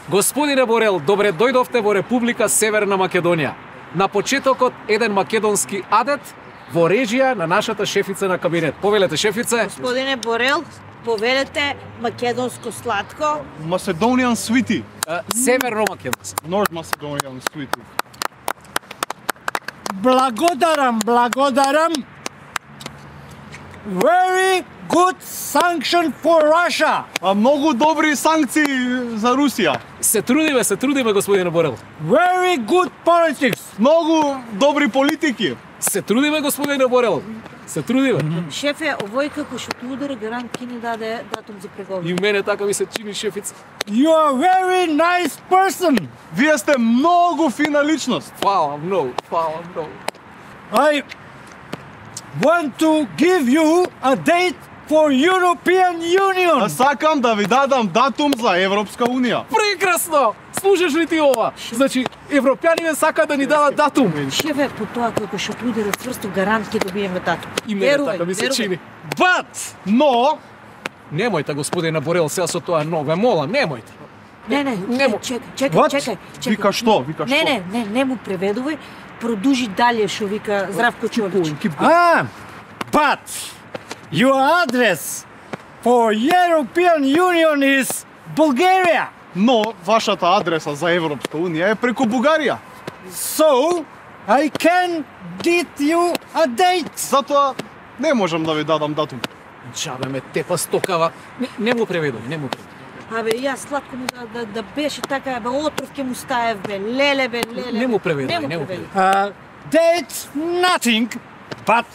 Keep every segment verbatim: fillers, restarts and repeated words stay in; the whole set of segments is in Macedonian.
Господине Борел, добре дојдовте во Република Северна Македонија. На почетокот еден македонски адет во режија на нашата шефица на кабинет. Повелете, шефице. Господине Борел, повелете македонско сладко. Macedonian sweetie. Uh, Северно македонско. North Macedonian sweetie. Благодарам, благодарам. Very good sanction for Russia. А многу добри санкции за Русија. Се трудиме, се трудиме, господине Борел. Very good politics. Многу добри политики. Се трудиме, господине Борел. Се трудиме. Шефе, овој како што ти удари гарант ки ни даде датум за преговори. И мене така ми се чини, шефица. You are a very nice person. Вие сте многу фина личност. Фала многу, фала многу. I want to give you a date for European Union. А сакам да ви дадам датум за Европска Унија. Прекрасно! Слушаш ли ти ова? Значи, европјаните сака да ни дадат датум. Шефе, по тоа како што ти удари цврсто гарант ке добиеме датум. И мене така ми се чини. But, но, Немојте, господине Борел, сега со тоа но, ве молам, немојте. Не, не, Немо. чекај, чекај, What? чекај, чекај. вика што, вика Не, што. не, не, не му преведувај. Продужи дале што вика Здравко Чолич. Ah, but your address for European Union is Bulgaria. Но, вашата адреса за Европска Унија е преку Бугарија. So, I can get you a date. Затоа не можам да ви дадам датум. Чабе ме тепа стокава. Не, не му преведувај, не му преведувај. Абе, јас сладко му да, да, да беше така, бе, отров ке му стаев, бе, леле, бе, леле. Не му бе. преведувај, не му преведувај. Uh, date nothing, but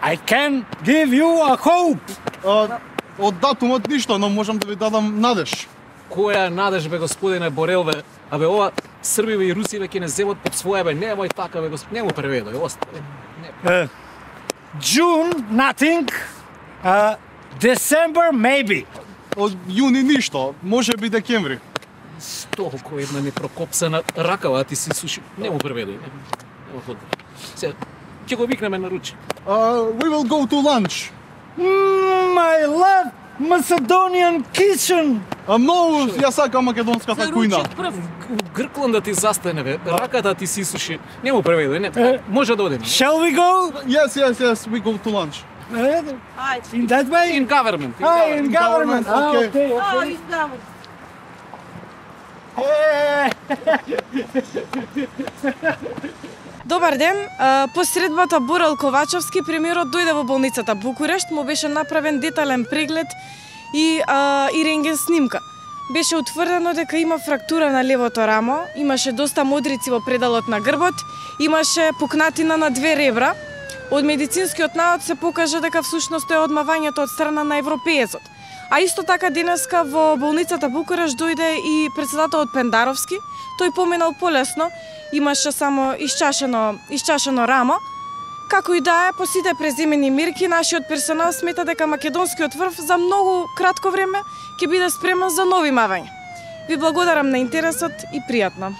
I can give you a hope. А, од датумот ништо, но можам да ви дадам надеж. Која надеж, бе, господине Борел, бе? Абе, ова Србиве и Русиве ќе не земат под своја, бе, немој така, бе, госп... не му преведувај, остави. Не. Uh, June nothing, uh, December maybe. Од јуни ништо, може би декември. Толку една непрокопсана ракава, а ти си суши. Не му преведувај, не. Нема потреба. Сега, ќе го викнеме на руче. Uh, we will go to lunch. Mm, I love Macedonian kitchen. А многу ја сакам македонската За кујна. ручек прв. Грклан да ти застане, бе. Раката ти си суши. Не му преведувај, не. Може да одиме. Shall we go? Yes, yes, yes, we go to lunch. Uh, Ајде. in that way? In government. In Ah, government. in government. Ah, Okay. okay, А, okay. издавам. Eh, Добар ден, а, по средбата Борел Ковачевски премиерот дојде во болницата Букурешт, му беше направен детален преглед и а, и рентген снимка. Беше утврдено дека има фрактура на левото рамо, имаше доста модрици во пределот на грбот, имаше пукнатина на две ребра. Од медицинскиот наод се покажа дека всушност е одмавањето од страна на европеецот. А исто така денеска во болницата Букурешт дојде и председателот Пендаровски. Тој поминал полесно, имаше само исчашено, исчашено рамо. Како и да е, по сите преземени мерки, нашиот персонал смета дека македонскиот врв за многу кратко време ќе биде спремен за нови мавања. Ви благодарам на интересот и пријатно.